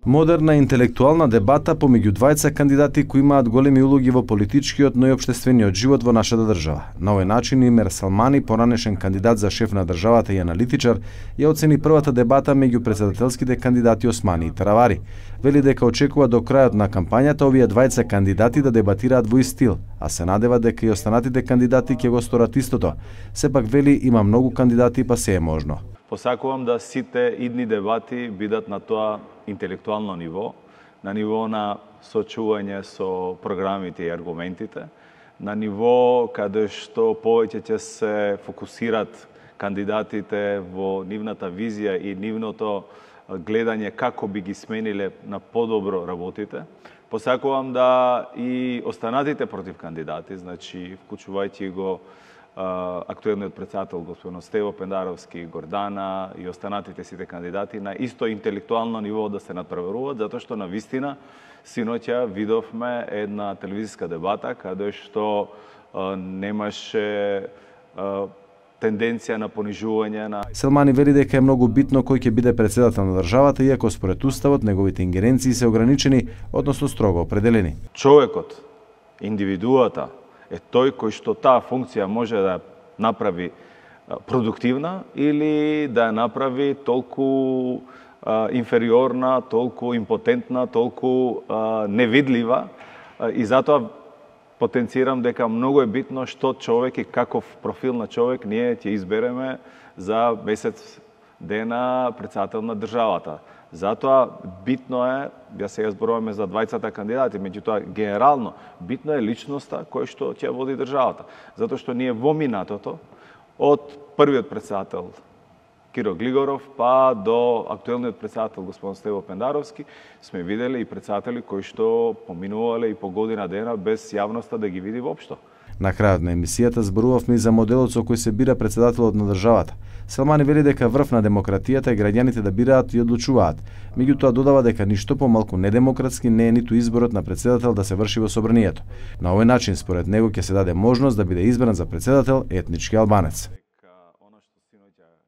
Модерна интелектуална дебата помеѓу двајца кандидати кои имаат големи улоги во политичкиот, но и општествениот живот во нашата држава. На овој начин Имер Салмани, поранешен кандидат за шеф на државата и аналитичар, ја оцени првата дебата меѓу претседателските кандидати Османи и Таравари. Вели дека очекува до крајот на кампањата овие двајца кандидати да дебатираат во ист стил, а се надева дека и останатите кандидати ќе го сторат истото. Сепак вели има многу кандидати па се е можно. Посакувам да сите идни дебати бидат на тоа интелектуално ниво, на ниво на сочување со програмите и аргументите, на ниво каде што повеќе ќе се фокусират кандидатите во нивната визија и нивното гледање како би ги смениле на подобро работите. Посакувам да и останатите против кандидати, значи вклучувајќи го актуелниот претседател господин Стево Пендаровски, Гордана и останатите сите кандидати на исто интелектуално ниво да се надпреваруваат, затоа што на вистина синоќа видовме една телевизиска дебата каде што немаше тенденција на понижување на... Салмани вели дека е многу битно кој ќе биде претседател на државата, иако според уставот неговите ингеренции се ограничени, односно строго определени. Човекот, индивидуата, е тој кој што таа функција може да направи продуктивна или да ја направи толку инфериорна, толку импотентна, толку невидлива, и затоа потенцирам дека многу е битно што човек и каков профил на човек ние ќе избереме за месец дена претседател на државата. Затоа битно е, ја сега зборуваме за двајцата кандидати, меѓутоа генерално битно е личноста кој што ќе води државата. Затоа што ние во минатото од првиот претседател Киро Глигоров па до актуелниот претседател господин Стево Пендаровски сме виделе и претседатели кои што поминувале и по година дена без јавноста да ги види воопшто. На крајот на емисијата зборувавме и за моделот со кој се бира претседателот на државата. Салмани вели дека врв на демократијата е граѓаните да бираат и одлучуваат. Меѓутоа додава дека ништо помалку недемократски не е ниту изборот на претседател да се врши во собранието. На овој начин според него ќе се даде можност да биде избран за претседател етнички албанец.